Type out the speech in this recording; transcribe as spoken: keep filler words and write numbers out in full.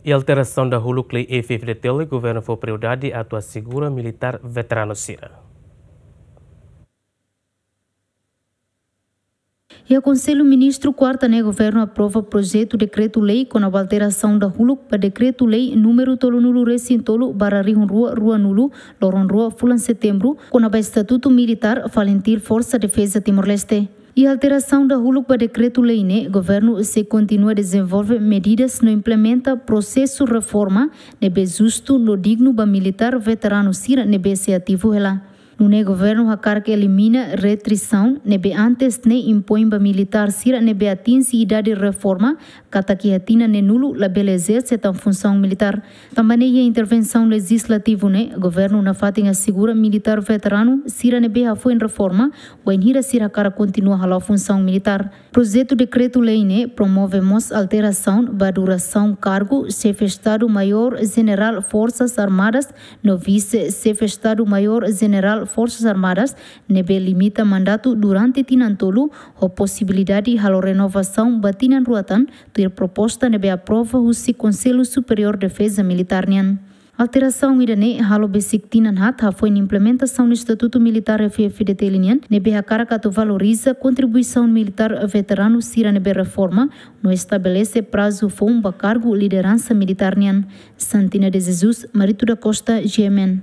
Iha alterasaun dahuluk lei F-FDTL, governu fó prioridade atu asegura militár veteranu sira. Iha Konsellu Ministru kuarta ne'e, governu aprova projetu dekretu-lei kona-ba alterasaun dahuluk ba dekretu-lei númeru tolunulu-resin-tolu barra rihun rua ruanulu, loron rua fulan Setembru, kona-ba estatutu militár FALINTIL, Forsa Defeza Timor-Leste. Iha alterasaun dahuluk ba dekretu-lei ne'e, governu sei kontinua dezenvolve medidas no implementa prosesu reforma ne'ebé justu no dignu ba militár veteranu sira ne'ebé sei ativu hela. Nune'e governu hakarak elimina restrisaun ne'ebé antes ne'e impoin ba militár sira ne'ebé atinje idade reforma, katak iha tinan neenulu labele ezerse tan funsaun militár. Tanba ne'e iha intervensaun lejizlativu ne'e, governu nafatin asegura militár veteranu sira ne'ebé hafoin reforma, bainhira sira hakarak kontinua hala'o funsaun militár. Projetu dekretu-lei ne'e promove mós alterasaun ba durasaun kargu Xefe Estadu Maiór Jenerál Forsas Armadas no Vise Xefe Estadu Maiór Jenerál Forsas Armadas, ne'ebé limita mandatu durante tinan tolu, ho posibilidade halo renovasaun ba tinan rua tan, tuir proposta ne'ebé aprova husi Konsellu Superiór Defeza Militár nian. Alterasaun ida-ne'e halo besik tinan haat hafoin implementasaun estatutu militár F-FDTL nian, ne'ebé hakarak atu valoriza kontribuisaun militár veteranu sira ne'ebé reforma, no estabelese prazu foun ba kargu lideransa militár nian. Santina de Jesus, Marito da Costa, G M N.